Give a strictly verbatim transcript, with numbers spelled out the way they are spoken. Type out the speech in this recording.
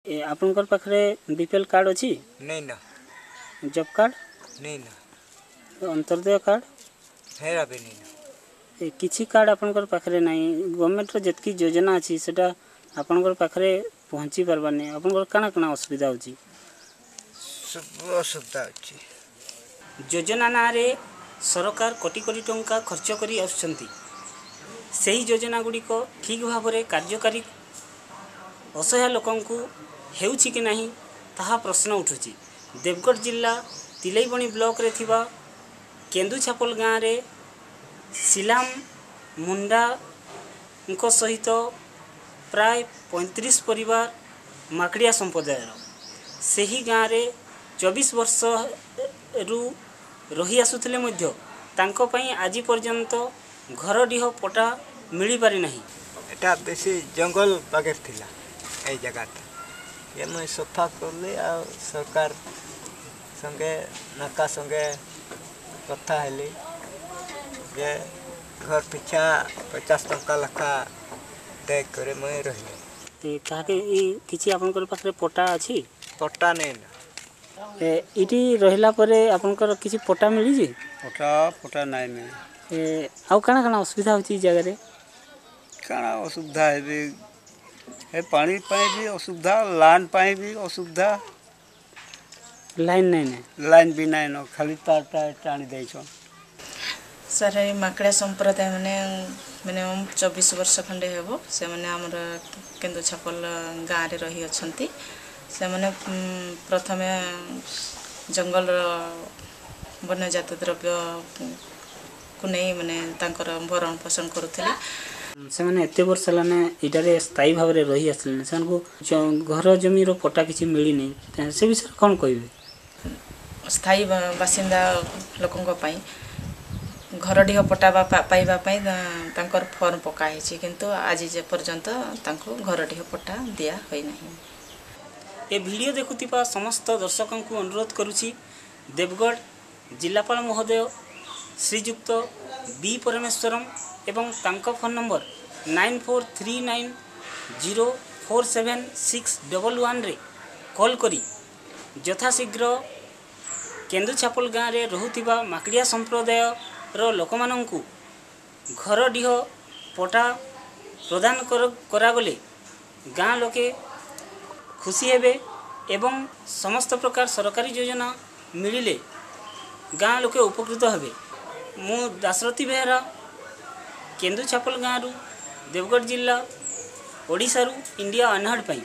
ଏ ଆପଣଙ୍କର ପାଖରେ B P L card ଅଛି? ନାଇଁ ନା। Job card? ନାଇଁ ନା। ଅନ୍ତର୍ଦୟ କାର୍ଡ଼? ହେରା ବି ନାଇଁ ନା। ଏ କିଛି କାର୍ଡ଼ ଆପଣଙ୍କର ପାଖରେ ନାହିଁ। ଗଭର୍ଣ୍ଣମେଣ୍ଟର ଯେତିକି ଯୋଜନା ଅଛି, ସେଟା ଆପଣଙ୍କର ପାଖରେ ପହଞ୍ଚି ପାରବାନି। ଆପଣଙ୍କର କାଣା କାଣା ଅସୁବିଧା ହେଉଛି? ସବୁ ଅସୁବିଧା ଅଛି। ଯୋଜନା ନାଁରେ ସରକାର କୋଟି କୋଟି ଟଙ୍କା ଖର୍ଚ୍ଚ କରି ଆସୁଛନ୍ତି। ସେହି ଯୋଜନା ଗୁଡ଼ିକ ଠିକ୍ ଭାବରେ କାର୍ଯ୍ୟକାରୀ ଅସହାୟ ଲୋକଙ୍କୁ ହେଉଛି କି ନାହିଁ, ତାହା ପ୍ରଶ୍ନ ଉଠୁଛି। ଦେବଗଡ଼ ଜିଲ୍ଲା ତିଲେଇବଣି ବ୍ଲକରେ ଥିବା କେନ୍ଦୁଛାପଲ ଗାଁରେ ସିଲାମ ମୁଣ୍ଡାଙ୍କ ସହିତ ପ୍ରାୟ ପଇଁତିରିଶ ପରିବାର ମାକଡ଼ିଆ ସମ୍ପ୍ରଦାୟର ସେହି ଗାଁରେ ଚବିଶ ବର୍ଷରୁ ରହି ଆସୁଥିଲେ ମଧ୍ୟ ତାଙ୍କ ପାଇଁ ଆଜି ପର୍ଯ୍ୟନ୍ତ ଘରଡିହ ପଟା ମିଳିପାରି ନାହିଁ। ଏଟା ବେଶୀ ଜଙ୍ଗଲ ପାଖରେ ଥିଲା ଏଇ ଜାଗାଟା। ଏ ମୁଇଁ ସଫା କଲି ଆଉ ସରକାର ସଙ୍ଗେ, ନାକା ସଙ୍ଗେ କଥା ହେଲି ଯେ ଘର ପିଛା ପଚାଶ ଟଙ୍କା ଲେଖା ଦେଇକରି ମୁଇଁ ରହିଲି। କାହାକେ ଏଇ କିଛି ଆପଣଙ୍କର ପାଖରେ ପଟା ଅଛି? ପଟା ନେଇ ନା। ଏ ଏଇଠି ରହିଲା ପରେ ଆପଣଙ୍କର କିଛି ପଟା ମିଳିଛି? ପଟା ପଟା ନାଇଁ ମିଳେ। ଏ ଆଉ କାଣା କାଣା ଅସୁବିଧା ହେଉଛି ଏଇ ଜାଗାରେ? କାଣା ଅସୁବିଧା ହେବେ? ଏ ପାଣି ପାଇଁ ବି ଅସୁବିଧା, ଲାଇନ୍ ପାଇଁ ବି ଅସୁବିଧା। ଲାଇନ୍ ନାଇଁ ନାଇଁ? ଲାଇନ୍ ବି ନାଇଁ ନ, ଖାଲି ତାରଟା ଟାଣି ଦେଇଛନ୍। ସାର୍, ଏଇ ମାକଡ଼ିଆ ସମ୍ପ୍ରଦାୟ ମାନେ ମିନିମମ୍ ଚବିଶ ବର୍ଷ ଖଣ୍ଡେ ହେବ ସେମାନେ ଆମର କେନ୍ଦୁଛାପଲ ଗାଁରେ ରହିଅଛନ୍ତି। ସେମାନେ ପ୍ରଥମେ ଜଙ୍ଗଲର ବନ୍ୟଜାତ ଦ୍ରବ୍ୟକୁ ନେଇ ମାନେ ତାଙ୍କର ଭରଣ ପୋଷଣ କରୁଥିଲେ। ସେମାନେ ଏତେ ବର୍ଷ ହେଲାନେ ଏଇଟାରେ ସ୍ଥାୟୀ ଭାବରେ ରହି ଆସିଲେଣି, ସେମାନଙ୍କୁ ଘର ଜମିର ପଟା କିଛି ମିଳିନି, ସେ ବିଷୟରେ କ'ଣ କହିବେ? ସ୍ଥାୟୀ ବାସିନ୍ଦା ଲୋକଙ୍କ ପାଇଁ ଘରଡିହ ପଟା ପାଇବା ପାଇଁ ତାଙ୍କର ଫର୍ମ ପକା ହେଇଛି, କିନ୍ତୁ ଆଜି ଯେ ପର୍ଯ୍ୟନ୍ତ ତାଙ୍କୁ ଘରଡିହ ପଟା ଦିଆ ହୋଇନାହିଁ। ଏ ଭିଡ଼ିଓ ଦେଖୁଥିବା ସମସ୍ତ ଦର୍ଶକଙ୍କୁ ଅନୁରୋଧ କରୁଛି, ଦେବଗଡ଼ ଜିଲ୍ଲାପାଳ ମହୋଦୟ ଶ୍ରୀଯୁକ୍ତ ବି ପରମେଶ୍ୱରମ୍ ଏବଂ ତାଙ୍କ phone number nine four three nine zero four seven six double ୱାନ୍ରେ call କରି ଯଥାଶୀଘ୍ର କେନ୍ଦୁଛାପଲ ଗାଁରେ ରହୁଥିବା ମାକଡ଼ିଆ ସମ୍ପ୍ରଦାୟର ଲୋକମାନଙ୍କୁ ଘରଡିହ ପଟା ପ୍ରଦାନ କରାଗଲେ ଗାଁ ଲୋକେ ଖୁସି ହେବେ ଏବଂ ସମସ୍ତ ପ୍ରକାର ସରକାରୀ ଯୋଜନା ମିଳିଲେ ଗାଁ ଲୋକେ ଉପକୃତ ହେବେ। ମୁଁ ଦାଶରଥୀ ବେହେରା, କେନ୍ଦୁଛାପଲ ଗାଁରୁ, ଦେବଗଡ଼ ଜିଲ୍ଲା, ଓଡ଼ିଶାରୁ ଇଣ୍ଡିଆ ଅନହର୍ଡ଼ ପାଇଁ।